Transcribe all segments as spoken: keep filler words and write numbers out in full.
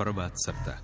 Prva crta.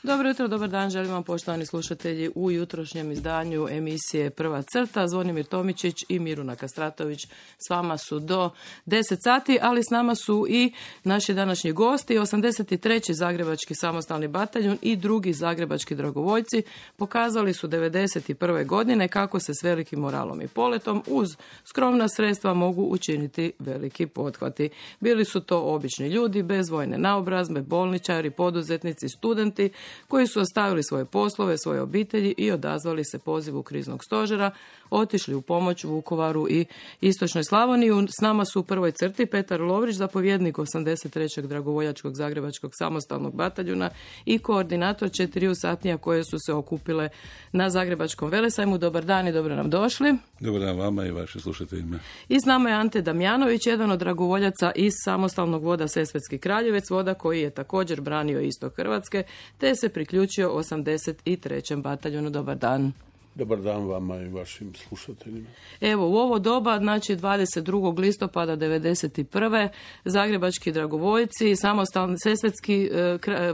Dobro jutro, dobar dan, želim vam poštovani slušatelji u jutrošnjem izdanju emisije Prva crta. Zvonimir Tomičić i Miruna Kastratović s vama su do deset sati, ali s nama su i naši današnji gosti, osamdeset treći Zagrebački samostalni bataljon i drugi Zagrebački dragovoljci. Pokazali su devedeset prve godine kako se s velikim moralom i poletom uz skromna sredstva mogu učiniti veliki pothvati. Bili su to obični ljudi bez vojne naobrazbe, bolničari, poduzetnici, studenti, koji su ostavili svoje poslove, svoje obitelji i odazvali se pozivu kriznog stožera, otišli u pomoć Vukovaru i Istočnoj Slavoniji. S nama su u prvoj crti Petar Lovrić, zapovjednik osamdeset trećeg dragovoljačkog Zagrebačkog samostalnog bataljuna i koordinator četiriju satnija koje su se okupile na Zagrebačkom velesajmu. Dobar dan i dobro nam došli. Dobar dan vama i vaše slušateljima. I s nama je Ante Damjanović, jedan od dragovoljaca iz samostalnog voda Sesvetski Kraljevec, voda koji je također branio istok Hrvatske, te se priključio osamdeset trećem bataljonu. Dobar dan. Dobar dan vama i vašim slušateljima. Evo, u ovo doba, znači dvadeset drugog listopada devedeset prve Zagrebački dragovoljci, samostalni Sesvetski,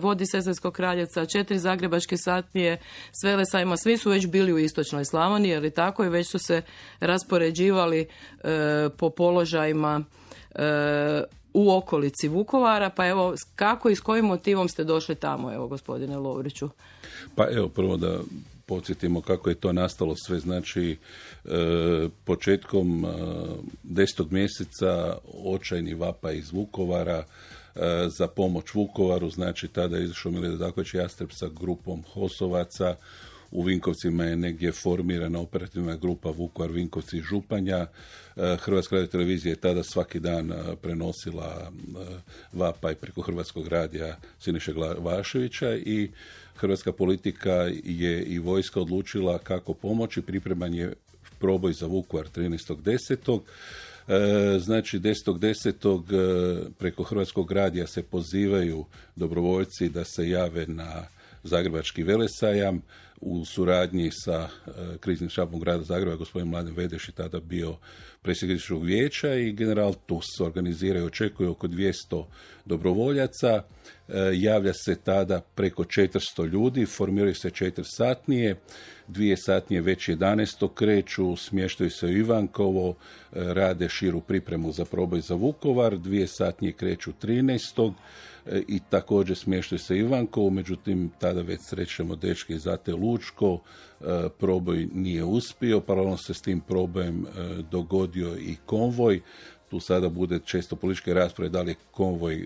vodi Sesvetskog Kraljevca, četiri zagrebačke satnije s velesajma, svi su već bili u Istočnoj Slavoniji, je li tako, i već su se raspoređivali e, po položajima e, u okolici Vukovara. Pa evo, kako i s kojim motivom ste došli tamo, evo, gospodine Lovriću? Pa evo, prvo da podsjetimo kako je to nastalo sve. Znači, e, početkom e, desetog mjeseca očajni vapaj iz Vukovara e, za pomoć Vukovaru. Znači, tada je izašao Mile Dedaković Jastreb sa grupom Hosovaca. U Vinkovcima je negdje formirana operativna grupa Vukovar, Vinkovci i Županja. Hrvatska radiotelevizija je tada svaki dan prenosila vapaj preko Hrvatskog radija Siniše Glavaševića i hrvatska politika je i vojska odlučila kako pomoći. Pripreman je proboj za Vukovar trinaestog desetog Znači, desetog desetog preko Hrvatskog radija se pozivaju dobrovoljci da se jave na Zagrebački velesajam u suradnji sa e, kriznim štabom grada Zagreba. Gospodin Mladen Vedeš je tada bio predsjednik kriznog vijeća i general Tus organizira i očekuje oko dvjesto dobrovoljaca. E, javlja se tada preko četiristo ljudi, formiraju se četiri satnije, dvije satnije već jedanaestog kreću, smještaju se u Ivankovo, e, rade širu pripremu za proboj za Vukovar, dvije satnije kreću trinaestog i također smještaju se Ivankovo, međutim tada već srećemo dečke iz A T Lučko, proboj nije uspio, paralelno se s tim probojem dogodio i konvoj. Tu sada bude često političke rasprave da li je konvoj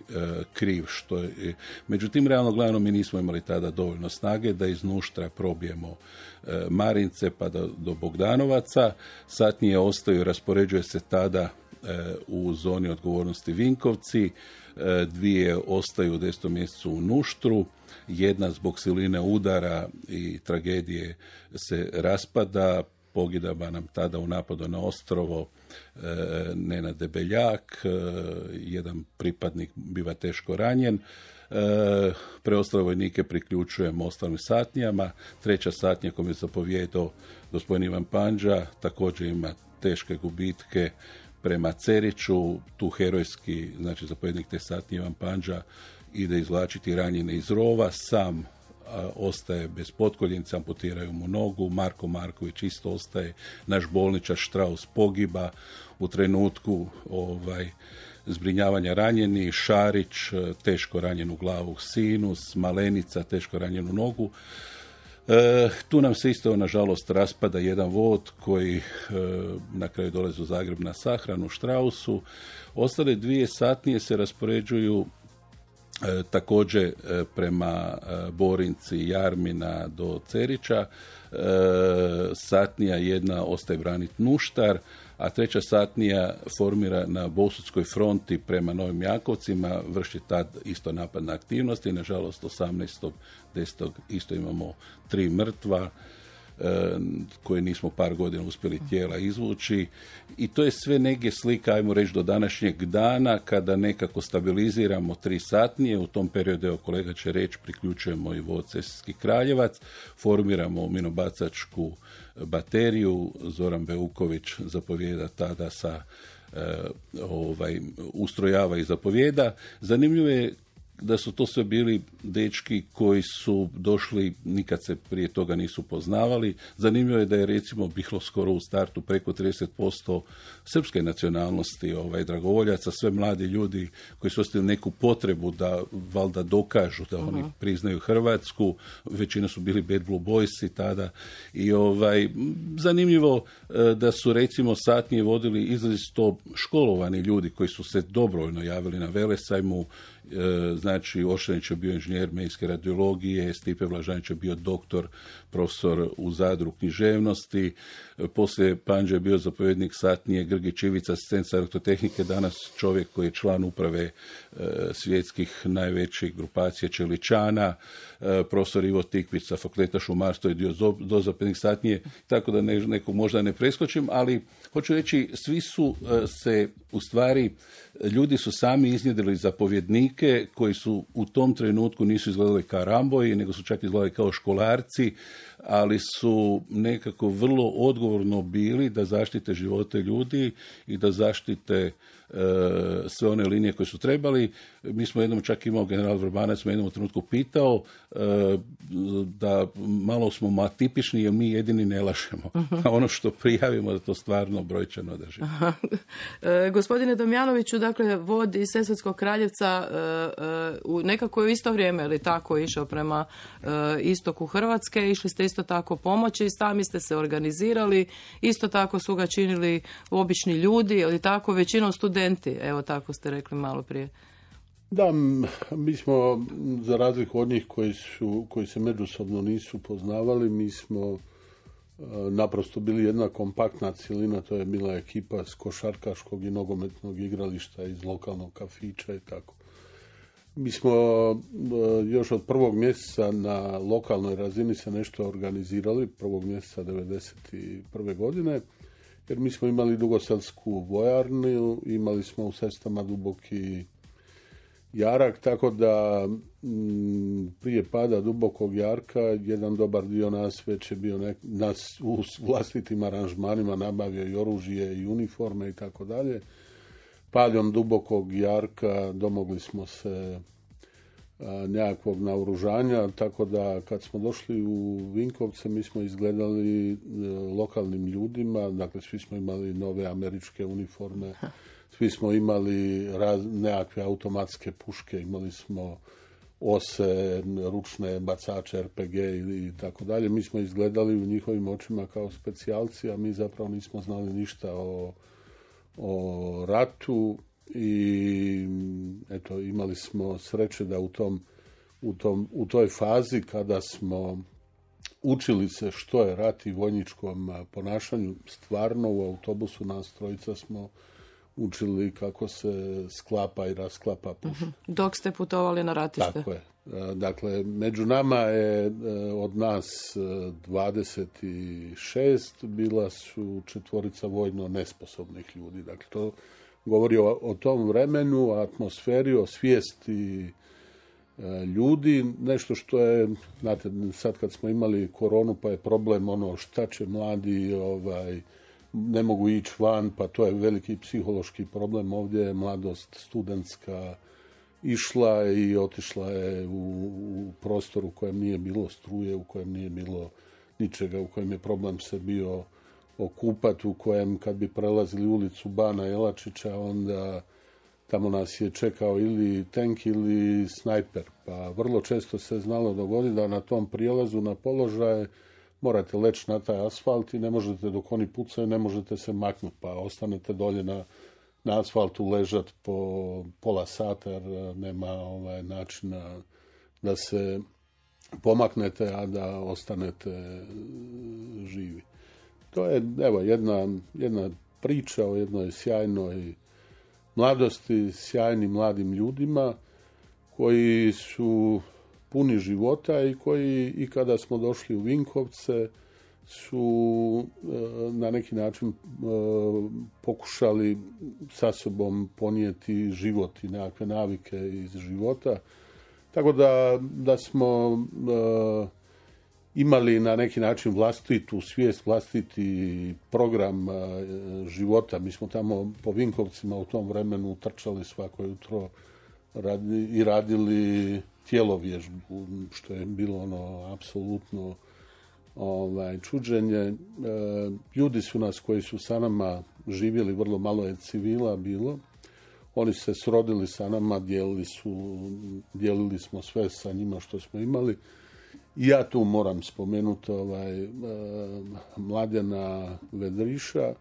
kriv, što je. Međutim, realno gledano mi nismo imali tada dovoljno snage da iz Nuštra probijemo Marince pa do, do Bogdanovaca. Satnije ostaju, raspoređuje se tada u zoni odgovornosti Vinkovci, dvije ostaju u desetom mjesecu u Nuštru, jedna zbog siline udara i tragedije se raspada, pogidaba nam tada u napadu na Ostrovo e, Nenad Debeljak, e, jedan pripadnik biva teško ranjen. E, preostale vojnike priključujemo ostalim satnijama. Treća satnija kojom je zapovjedao gospodin Ivan Panđa također ima teške gubitke prema Ceriću. Tu herojski, znači zapovjednik te satnije Ivan Panđa ide izvlačiti ranjene iz rova, sam a, ostaje bez potkoljenca, amputiraju mu nogu. Marko Marković isto ostaje, naš bolničar Štraus pogiba u trenutku ovaj, zbrinjavanja ranjeni, Šarić teško ranjenu glavu, Sinus, Malenica teško ranjenu nogu. E, tu nam se isto, nažalost, raspada jedan vod koji e, na kraju dolazi u Zagreb na sahranu u Štrausu. Ostale dvije satnije se raspoređuju e, također e, prema e, Borinci, Jarmina do Cerića. E, satnija jedna ostaje braniti Nuštar, a treća satnija formira na Bosutskoj fronti prema Novim Jakovcima, vrši tad isto napad na aktivnosti. Nažalost, osamnaestog desetog isto imamo tri mrtva, e, koje nismo par godina uspjeli tijela izvući. I to je sve negdje slika, ajmo reći, do današnjeg dana, kada nekako stabiliziramo tri satnije. U tom periodu, evo kolega će reći, priključujemo i vod Sesvetski Kraljevac, formiramo minobacačku bateriju. Zoran Beuković zapovijeda tada sa ovaj, ustrojava i zapovijeda. Zanimljivo je da su to sve bili dečki koji su došli, nikad se prije toga nisu poznavali. Zanimljivo je da je recimo bilo skoro u startu preko trideset posto srpske nacionalnosti ovaj, dragovoljaca, sve mladi ljudi koji su ostali neku potrebu da valjda dokažu da oni uh-huh. priznaju Hrvatsku. Većina su bili Bad Blue Boysi tada. I ovaj, zanimljivo da su recimo satnije vodili izrazito školovani ljudi koji su se dobrovoljno javili na Velesajmu. Znači, Ošanić je bio inženjer medijske radiologije, Stipe Vlažanić je bio doktor, profesor u Zadru književnosti, poslije Panđa je bio zapovjednik satnije, Grgić Ivica, asistent sa elektrotehnike, danas čovjek koji je član uprave e, svjetskih najvećih grupacija Čeličana, e, profesor Ivo Tikvić sa fakulteta šumarstva je dio dozapovjednik satnije, tako da ne, nekog možda ne preskočim, ali hoću reći, svi su e, se u stvari, ljudi su sami iznjedrili zapovjednike koji su u tom trenutku nisu izgledali kao Ramboji, nego su čak izgledali kao školarci, ali su nekako vrlo odgovorno bili da zaštite živote ljudi i da zaštite e, sve one linije koje su trebali. Mi smo jednom čak imao, general Vrbanac me jednom trenutku pitao e, da malo smo atipični jer mi jedini ne lažemo. A ono što prijavimo da to stvarno brojčano drži. e, gospodine Damjanoviću, dakle, vod iz Sesvetskog Kraljevca e, e, u nekako u isto vrijeme, ili tako, išao prema e, istoku Hrvatske, išli ste isto tako pomoći i sami ste se organizirali, isto tako su ga činili obični ljudi, ili tako, većinom studenti, evo tako ste rekli malo prije. Da, mi smo, za razliku od njih koji, su, koji se međusobno nisu poznavali, mi smo naprosto bili jedna kompaktna cjelina, to je bila ekipa s košarkaškog i nogometnog igrališta iz lokalnog kafića i tako. Mi smo još od prvog mjeseca na lokalnoj razini se nešto organizirali, prvog mjeseca devedeset prve godine, jer mi smo imali Dugoselsku vojarnu, imali smo u Sestama Duboki jarak, tako da m, prije pada Dubokog jarka jedan dobar dio nas već je bio nek, nas u vlastitim aranžmanima nabavio i oružje i uniforme i tako dalje. Padom Dubokog jarka domogli smo se a, nekakvog naoružanja, tako da kad smo došli u Vinkovce mi smo izgledali a, lokalnim ljudima, dakle svi smo imali nove američke uniforme, svi smo imali raz, nekakve automatske puške, imali smo ose, ručne bacače, er pe ge i, i tako dalje. Mi smo izgledali u njihovim očima kao specijalci, a mi zapravo nismo znali ništa o, o ratu i eto, imali smo sreće da u, tom, u, tom, u toj fazi kada smo učili se što je rat i vojničkom ponašanju, stvarno u autobusu nas trojica smo učili kako se sklapa i rasklapa puška. Dok ste putovali na ratište. Tako je. Dakle, među nama je od nas dvadeset šest, bila su četvorica vojno nesposobnih ljudi. Dakle, to govori o, o tom vremenu, o atmosferi, o svijesti ljudi. Nešto što je, znate, sad kad smo imali koronu, pa je problem ono šta će mladi, ovaj, ne mogu ići van, pa to je veliki psihološki problem. Ovdje je mladost studentska išla i otišla je u, u prostor u kojem nije bilo struje, u kojem nije bilo ničega, u kojem je problem se bio okupati, u kojem kad bi prelazili ulicu Bana Jelačića, onda tamo nas je čekao ili tank ili snajper. Pa vrlo često se znalo dogoditi da na tom prijelazu na položaje morate leći na taj asfalt i ne možete, dok oni pucaju, ne možete se maknuti, pa ostanete dolje na, na asfaltu ležati po pola sata jer nema ovaj načina da se pomaknete, a da ostanete živi. To je, evo, jedna, jedna priča o jednoj sjajnoj mladosti, sjajnim mladim ljudima koji su puni života i koji i kada smo došli u Vinkovce su na neki način pokušali sa sobom ponijeti život i nekakve navike iz života. Tako da, da smo imali na neki način vlastitu svijest, vlastiti program života. Mi smo tamo po Vinkovcima u tom vremenu trčali svako jutro i radili tjelovježbu, što je bilo ono apsolutno ovaj, čuđenje. E, ljudi su nas koji su sa nama živjeli, vrlo malo je civila bilo. Oni su se srodili sa nama, dijelili, su, dijelili smo sve sa njima što smo imali. I ja tu moram spomenuti ovaj, e, Mladena Vedriša.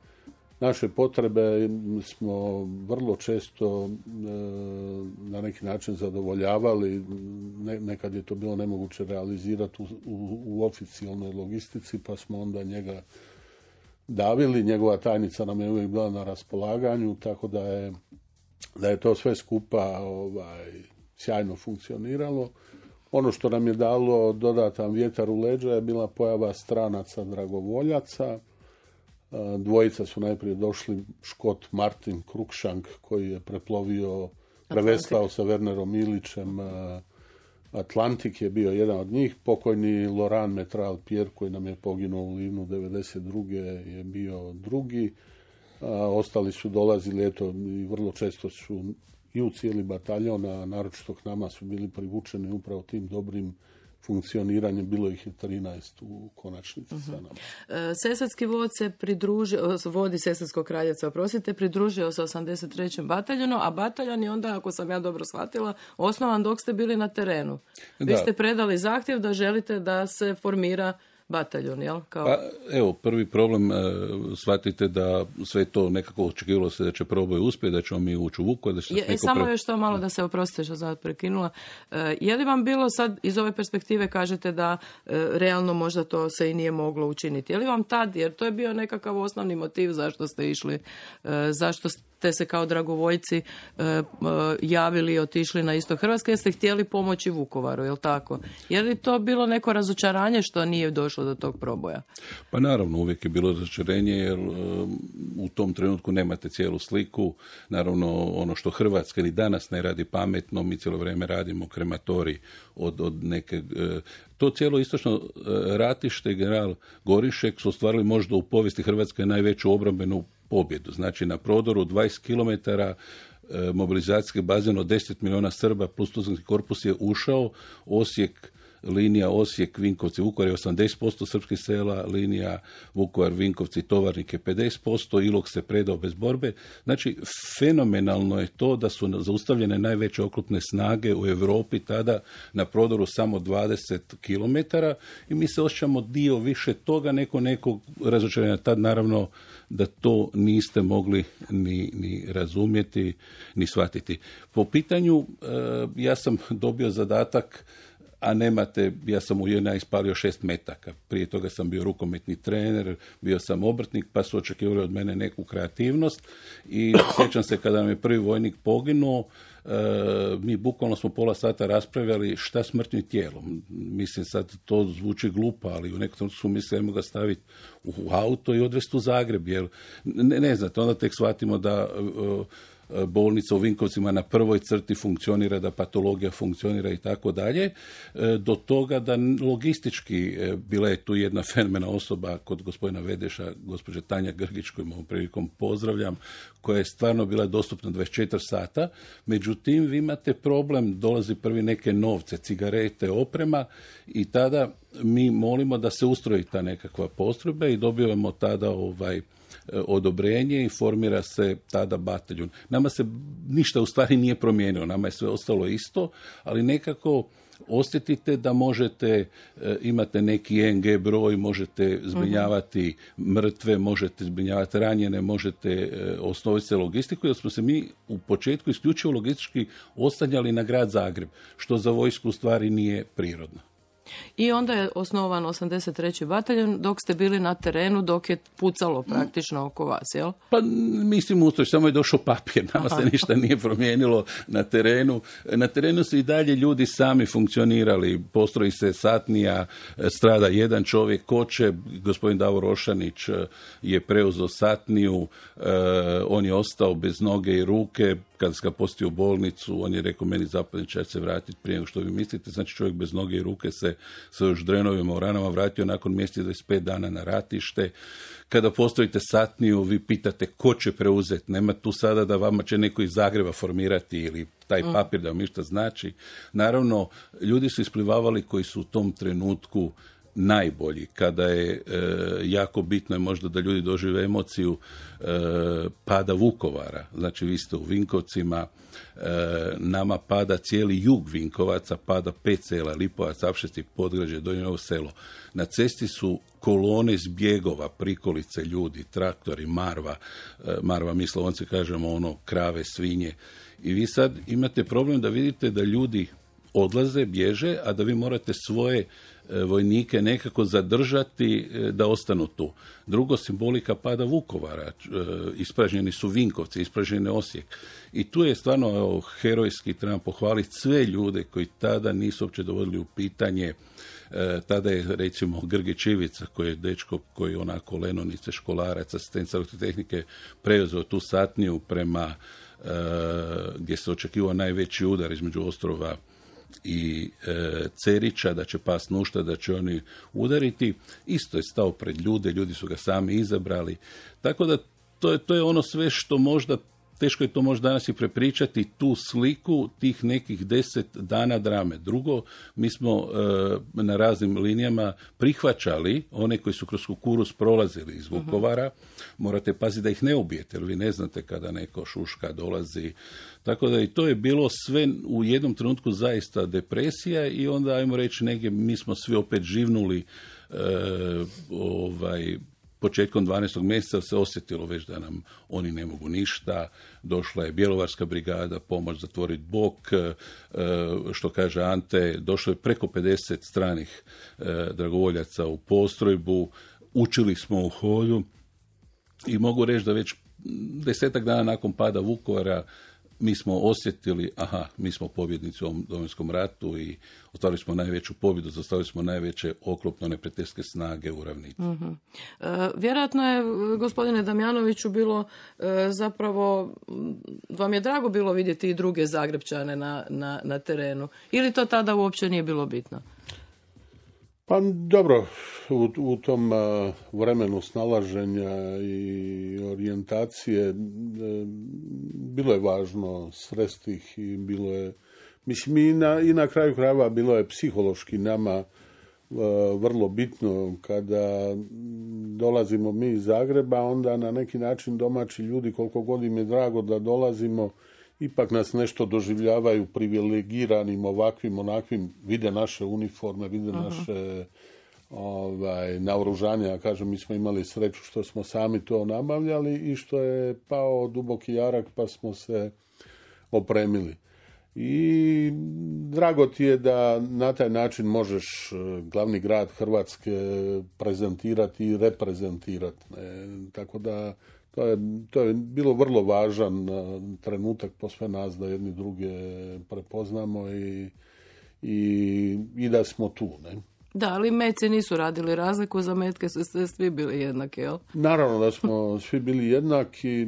Naše potrebe smo vrlo često e, na neki način zadovoljavali. Ne, nekad je to bilo nemoguće realizirati u, u, u oficijalnoj logistici, pa smo onda njega davili. Njegova tajnica nam je uvijek bila na raspolaganju, tako da je, da je to sve skupa ovaj, sjajno funkcioniralo. Ono što nam je dalo dodatan vjetar u leđa je bila pojava stranaca dragovoljaca. Dvojica su najprije došli, Škot Martin Cruikshank, koji je preplovio, prevestao sa Wernerom Ilićem Atlantik, je bio jedan od njih. Pokojni Laurent Metral Pierre, koji nam je poginuo u Livnu devedeset druge je bio drugi. Ostali su dolazili, eto, i vrlo često su i u cijeli bataljon, a naročito k nama su bili privučeni upravo tim dobrim funkcioniranjem, bilo ih je trinaest u konačnici uh-huh. sa nama. Sesarski vod se pridružio, vodi Sesarskog kraljeca, oprostite, pridružio se osamdeset trećem bataljonu, a bataljon je onda, ako sam ja dobro shvatila, osnovan dok ste bili na terenu. Vi da. ste predali zahtjev da želite da se formira bataljon, jel? Kao... Pa, evo, prvi problem, e, shvatite da sve to nekako očekivalo se da će proboj uspjeti, da ćemo mi ući u Vukovar, da će je, neko Samo pre... još to malo da se oprostite što sam prekinula. E, je li vam bilo sad, iz ove perspektive kažete da e, realno možda to se i nije moglo učiniti? Je li vam tad, jer to je bio nekakav osnovni motiv zašto ste išli, e, zašto ste se kao dragovoljci e, e, javili i otišli na istok Hrvatske, jer ste htjeli pomoći Vukovaru, je li tako? Je li to bilo neko razočaranje što nije došlo do tog proboja? Pa naravno, uvijek je bilo razočarenje jer um, u tom trenutku nemate cijelu sliku. Naravno, ono što Hrvatska ni danas ne radi pametno, mi cijelo vrijeme radimo krematorij od, od neke... Uh, to cijelo istočno uh, ratište, general Gorišek su ostvarili možda u povijesti Hrvatske najveću obrambenu pobjedu. Znači, na prodoru dvadeset kilometara uh, mobilizacijski bazen od deset milijuna Srba plus Tuzlanski korpus je ušao. Osijek, linija Osijek, Vinkovci, Vukovar je osamdeset posto srpskih sela, linija Vukovar, Vinkovci, Tovarnik je pedeset posto, Ilok se predao bez borbe. Znači, fenomenalno je to da su zaustavljene najveće oklopne snage u Europi tada na prodoru samo dvadeset kilometara i mi se osjećamo dio više toga neko nekog razočarenja. Tad naravno da to niste mogli ni, ni razumjeti, ni shvatiti. Po pitanju, ja sam dobio zadatak, a nemate, ja sam u J N A ispalio šest metaka. Prije toga sam bio rukometni trener, bio sam obrtnik, pa su očekivali od mene neku kreativnost i sjećam se kada nam je prvi vojnik poginuo, e, mi bukvalno smo pola sata raspravljali šta s mrtvim tijelom. Mislim, sad to zvuči glupo, ali u nekom trenutku smo mislili ga staviti u auto i odvesti u Zagreb, jer ne, ne znate, onda tek shvatimo da e, bolnica u Vinkovcima na prvoj crti funkcionira, da patologija funkcionira i tako dalje, do toga da logistički bila je tu jedna fenomena osoba kod gospodina Vedeša, gospođa Tanja Grgić, koju ovom prilikom pozdravljam, koja je stvarno bila dostupna dvadeset četiri sata, međutim vi imate problem, dolazi prvi neke novce, cigarete, oprema i tada mi molimo da se ustroji ta nekakva postrojba i dobivamo tada ovaj odobrenje i formira se tada bataljon. Nama se ništa u stvari nije promijenilo, nama je sve ostalo isto, ali nekako osjetite da možete, imate neki E N G broj, možete zbrinjavati mrtve, možete zbrinjavati ranjene, možete osnoviti se logistiku, jer smo se mi u početku isključivo logistički ostanjali na grad Zagreb, što za vojsku u stvari nije prirodno. I onda je osnovan osamdeset treći bataljon dok ste bili na terenu, dok je pucalo praktično oko vas, jel? Pa mislim ustroj, samo je došao papir, nama Aha. se ništa nije promijenilo na terenu. Na terenu su i dalje ljudi sami funkcionirali, postroji se satnija, strada jedan čovjek, koče, gospodin Davor Ošanić je preuzeo satniju, on je ostao bez noge i ruke, kada sam ga postio u bolnicu, on je rekao meni zapadniče, ja se vratiti prije nego što vi mislite. Znači čovjek bez noge i ruke se sa još drenovima u ranama vratio nakon mjesec dvadeset pet dana na ratište. Kada postavite satniju, vi pitate ko će preuzeti. Nema tu sada da vama će neko iz Zagreba formirati ili taj papir da vam ništa znači. Naravno, ljudi su isplivavali koji su u tom trenutku najbolji, kada je e, jako bitno je možda da ljudi dožive emociju e, pada Vukovara. Znači vi ste u Vinkovcima, e, nama pada cijeli jug Vinkovaca, pada pet sela, Lipovac, Apšesti, Podgrađe, Donje Novo Selo. Na cesti su kolone zbjegova, prikolice ljudi, traktori, marva, e, marva mi Slavonci kažemo ono krave, svinje. I vi sad imate problem da vidite da ljudi odlaze, bježe, a da vi morate svoje vojnike nekako zadržati da ostanu tu. Drugo, simbolika pada Vukovara. Ispražnjeni su Vinkovci, ispražnjen je Osijek. I tu je stvarno evo, herojski, treba pohvaliti sve ljude koji tada nisu uopće dovodili u pitanje. E, tada je, recimo, Grgić Ivica, koji je dečko koji onako lenonice, školarac, asistent tehnike, preuzeo tu satniju prema e, gdje se očekivao najveći udar između Ostrova i e, Cerića, da će pas Nušta, da će oni udariti. Isto je stao pred ljude, ljudi su ga sami izabrali. Tako da to je, to je ono sve što možda, teško je to možda danas i prepričati, tu sliku tih nekih deset dana drame. Drugo, mi smo e, na raznim linijama prihvaćali one koji su kroz kukuruz prolazili iz Vukovara. Uh-huh. Morate paziti da ih ne ubijete, jer vi ne znate kada neko šuška dolazi. Tako da i to je bilo sve u jednom trenutku zaista depresija i onda, ajmo reći, negdje mi smo svi opet živnuli e, ovaj, početkom dvanaestog mjeseca se osjetilo već da nam oni ne mogu ništa. Došla je Bjelovarska brigada, pomoć zatvoriti bok, e, što kaže Ante, došlo je preko pedeset stranih e, dragovoljaca u postrojbu, učili smo u hodu i mogu reći da već desetak dana nakon pada Vukovara mi smo osjetili, aha, mi smo pobjednici u ovom Domovinskom ratu i ostvarili smo najveću pobjedu, zastavili smo najveće oklopno neprijateljske snage u ravnici. Uh-huh. E, vjerojatno je, gospodine Damjanoviću, bilo e, zapravo, vam je drago bilo vidjeti i druge Zagrepčane na, na, na terenu. Ili to tada uopće nije bilo bitno? Pa dobro, u, u tom uh, vremenu snalaženja i orijentacije uh, bilo je važno sresti ih i bilo je, mislim i na, i na kraju krajeva bilo je psihološki nama uh, vrlo bitno kada dolazimo mi iz Zagreba, onda na neki način domaći ljudi, koliko god im je drago da dolazimo, ipak nas nešto doživljavaju privilegiranim, ovakvim, onakvim, vide naše uniforme, vide uh-huh. naše ovaj, naoružanje. Ja kažem, mi smo imali sreću što smo sami to nabavljali i što je pao duboki jarak pa smo se opremili. I drago ti je da na taj način možeš glavni grad Hrvatske prezentirati i reprezentirati. Ne? Tako da To je, to je bilo vrlo važan trenutak po sve nas da jedni druge prepoznamo i, i, i da smo tu. Ne? Da, ali metci nisu radili razliku, za metke su svi bili jednaki, jel? Naravno da smo svi bili jednaki. E,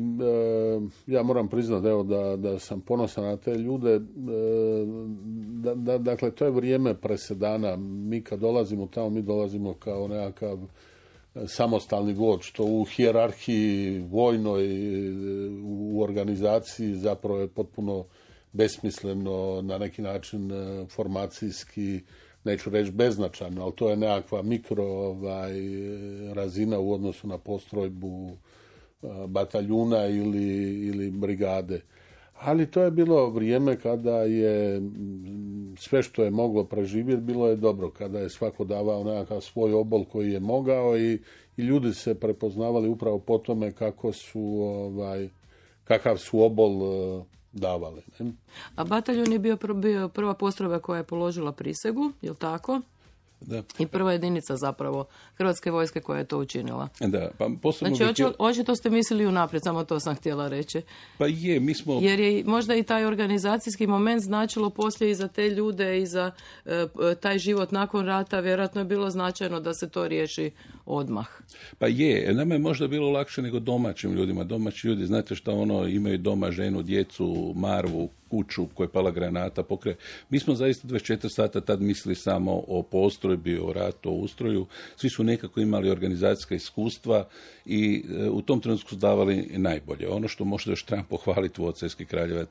ja moram priznati evo, da, da sam ponosan na te ljude. E, da, da, dakle, to je vrijeme presedana. Mi kad dolazimo tamo, mi dolazimo kao nekakav samostalni vod, što u hijerarhiji vojnoj, u organizaciji zapravo je potpuno besmisleno, na neki način formacijski, neću reći beznačajno, ali to je nekakva mikro ovaj, razina u odnosu na postrojbu bataljuna ili, ili brigade. Ali to je bilo vrijeme kada je sve što je moglo preživjeti bilo je dobro, kada je svako davao nekakav svoj obol koji je mogao i, i ljudi se prepoznavali upravo po tome kako su, ovaj, kakav su obol uh, davali. Ne? A bataljon je bio, pr- bio prva postrojba koja je položila prisegu, je li tako? Da. I prva jedinica zapravo Hrvatske vojske koja je to učinila. Da, pa posebno znači, htjela... očito ste mislili unaprijed, samo to sam htjela reći. Pa je, mi smo... Jer je možda i taj organizacijski moment značilo poslije i za te ljude i za e, taj život nakon rata, vjerojatno je bilo značajno da se to riješi odmah. Pa je, nama je možda bilo lakše nego domaćim ljudima. Domaći ljudi, znate šta ono, imaju doma ženu, djecu, marvu, kuću koja je pala granata, pokre. Mi smo zaista dvadeset četiri sata tad mislili samo o postrojbi, o ratu, o ustroju. Svi su nekako imali organizacijska iskustva i e, u tom trenutku su davali najbolje. Ono što možda još trebam pohvaliti Vodcajski Kraljevac,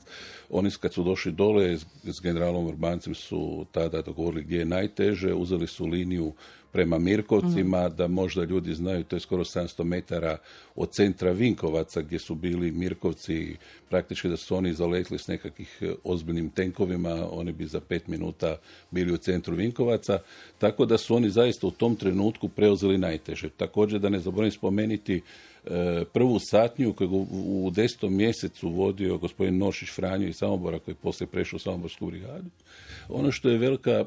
oni kad su došli dole s, s generalom Urbancem su tada dogovorili gdje je najteže, uzeli su liniju prema Mirkovcima, mm. da možda ljudi znaju, to je skoro sedamsto metara od centra Vinkovaca gdje su bili Mirkovci, praktički da su oni zaletli s nekakvih ozbiljnim tenkovima, oni bi za pet minuta bili u centru Vinkovaca, tako da su oni zaista u tom trenutku preuzeli najteže. Također da ne zaboravim spomenuti prvu satniju koju u desetom mjesecu vodio gospodin Nošić Franjo iz Samobora koji je poslije prešao u Samoborsku brigadu. Ono što je velika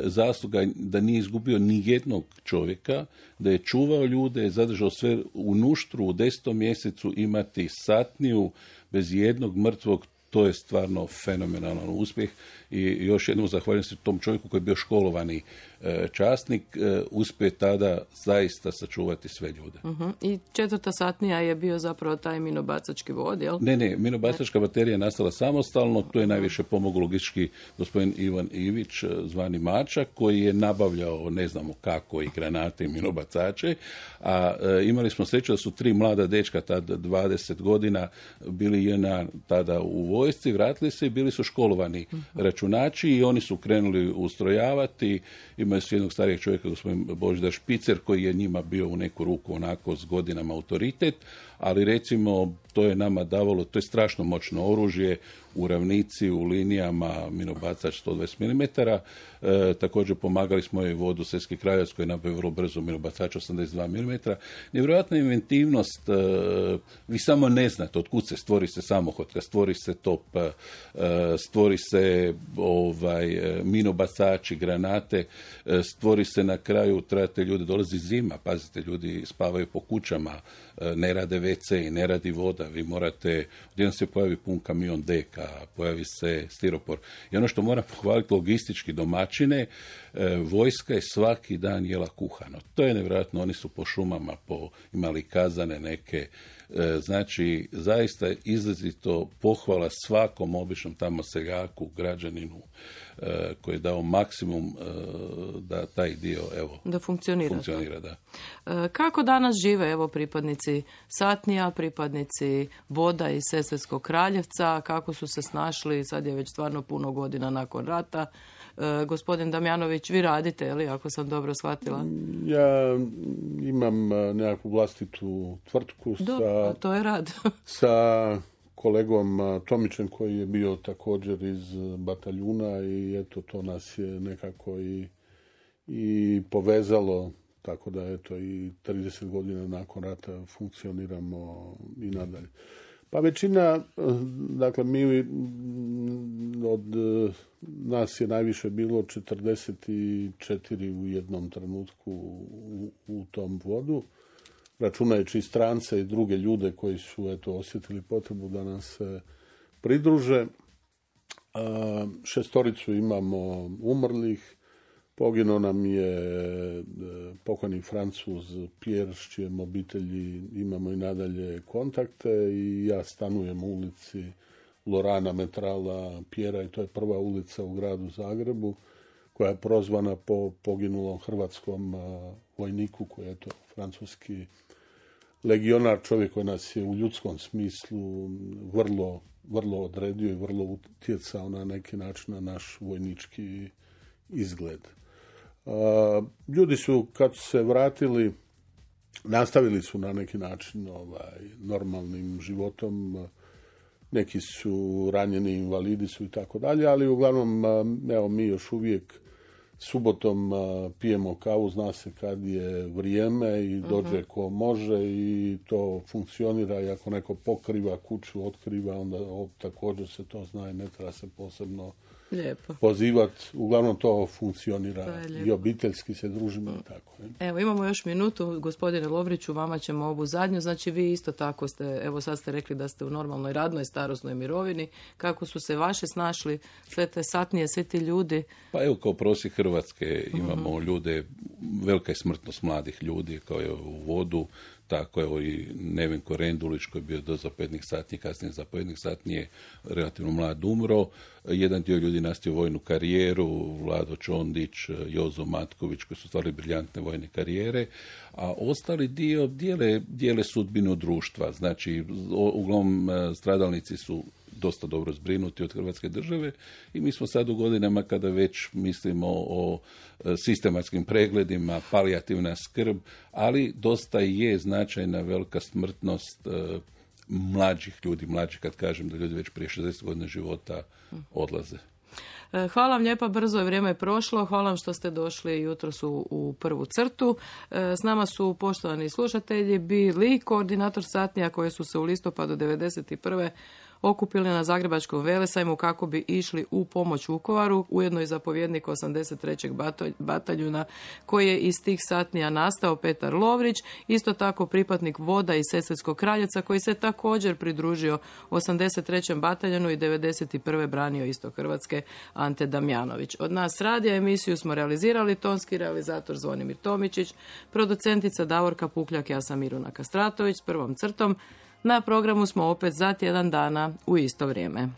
zasluga da nije izgubio ni jednog čovjeka, da je čuvao ljude, zadržao sve u Nuštru u desetom mjesecu imati satniju bez jednog mrtvog, to je stvarno fenomenalan uspjeh i još jednom zahvaljujem se tom čovjeku koji je bio školovani časnik, uspije tada zaista sačuvati sve ljude. Uh-huh. I četvrta satnija je bio zapravo taj minobacački vod, jel? Ne, ne, minobacačka baterija je nastala samostalno, to je najviše pomogao logistički gospodin Ivan Ivić, zvani Mačak, koji je nabavljao, ne znamo kako, i granate i minobacače, a e, imali smo sreću da su tri mlada dečka, tada dvadeset godina, bili jedna tada u vojsci, vratili se i bili su školovani uh-huh. računači i oni su krenuli ustrojavati. Imaju su jednog starijeg čovjeka, gospodin Božidar Špicer, koji je njima bio u neku ruku onako s godinama autoritet, ali recimo to je nama davalo, to je strašno moćno oružje u ravnici, u linijama, minobacač sto dvadeset milimetara. E, također pomagali smo i vodu Srpski Kraljevac koji je nabavio vrlo brzo minobacač osamdeset dva milimetra. Nevjerojatna inventivnost, e, vi samo ne znate od kud se stvori se samohotka, stvori se top, e, stvori se ovaj, minobacači, granate, e, stvori se na kraju, trebate ljudi, dolazi zima, pazite, ljudi spavaju po kućama, e, ne rade ve ce i ne radi voda, vi morate, odjednom se pojavi pun kamion deka, pojavi se stiropor. I ono što moram pohvaliti logistički domaćine, e, vojska je svaki dan jela kuhano. To je nevjerojatno, oni su po šumama po, imali kazane neke, e, znači zaista izrazito pohvala svakom običnom tamo seljaku, građaninu, e, koji je dao maksimum e, da taj dio evo, da funkcionira. funkcionira da. E, kako danas žive evo pripadnici satnija, pripadnici voda iz Sesvetskog Kraljevca, kako su se snašli, sad je već stvarno puno godina nakon rata. E, gospodin Damjanović, vi radite, ili ako sam dobro shvatila? Ja imam nekakvu vlastitu tvrtku Do, sa, to je rad. sa kolegom Tomićem koji je bio također iz bataljuna i eto to nas je nekako i, i povezalo, tako da eto i trideset godina nakon rata funkcioniramo i nadalje. Pa većina, dakle mi od nas je najviše bilo četrdeset četiri u jednom trenutku u, u tom vodu, računajući i strance i druge ljude koji su eto osjetili potrebu da nam se pridruže. A, šestoricu imamo umrlih, poginuo nam je pokojni Francuz Pierre, s čijem obitelji imamo i nadalje kontakte i ja stanujem u ulici Lorana Metrala Pierra i to je prva ulica u gradu Zagrebu koja je prozvana po poginulom hrvatskom vojniku koji je to francuski legionar, čovjek koji nas je u ljudskom smislu vrlo, vrlo odredio i vrlo utjecao na neki način na naš vojnički izgled. Uh, ljudi su, kad su se vratili, nastavili su na neki način ovaj, normalnim životom. Neki su ranjeni, invalidi su i tako dalje, ali uglavnom, evo, mi još uvijek subotom pijemo kavu, zna se kad je vrijeme i dođe uh-huh. ko može i to funkcionira i ako neko pokriva kuću, otkriva, onda o, također se to zna i ne treba se posebno Lijepo. pozivati. Uglavnom to funkcionira. To je lijepo. I obiteljski se družimo i tako. Ne? Evo, imamo još minutu. Gospodine Lovriću, vama ćemo ovu zadnju. Znači, vi isto tako ste, evo sad ste rekli da ste u normalnoj radnoj starosnoj mirovini. Kako su se vaši snašli, sve te satnije, svi ti ljudi? Pa evo, kao prosjek Hrvatske imamo uh-huh. ljude, velika je smrtnost mladih ljudi, kao je u vodu, tako evo i Neven Korendulić koji je bio do zapovjednik satnije, kasnije zapovjednik satnije, relativno mlad umro. Jedan dio ljudi nastavio vojnu karijeru, Vlado Čondić, Jozo Matković, koji su stvarali briljantne vojne karijere, a ostali dio dijele, dijele sudbinu društva. Znači, uglavnom stradalnici su dosta dobro zbrinuti od Hrvatske države i mi smo sad u godinama kada već mislimo o sistematskim pregledima, palijativna skrb, ali dosta je značajna velika smrtnost mlađih ljudi, mlađih kad kažem da ljudi već prije šezdeset godina života odlaze. Hvala vam lijepa, brzo je vrijeme prošlo. Hvala vam što ste došli jutros u, u prvu crtu. S nama su poštovani slušatelji bili koordinator satnija koje su se u listopadu devedeset prve okupili na Zagrebačkom velesajmu kako bi išli u pomoć Vukovaru, ujedno i zapovjednik osamdeset trećeg bataljuna koji je iz tih satnija nastao, Petar Lovrić, isto tako pripadnik voda iz Sesvetskog Kraljeca koji se također pridružio osamdeset trećem bataljunu i devedeset prve branio isto Hrvatske, Ante Damjanović. Od nas radija emisiju smo realizirali tonski realizator Zvonimir Tomičić, producentica Davorka Pukljak, ja sam Miruna Kastratović s prvom crtom. Na programu smo opet za tjedan dana u isto vrijeme.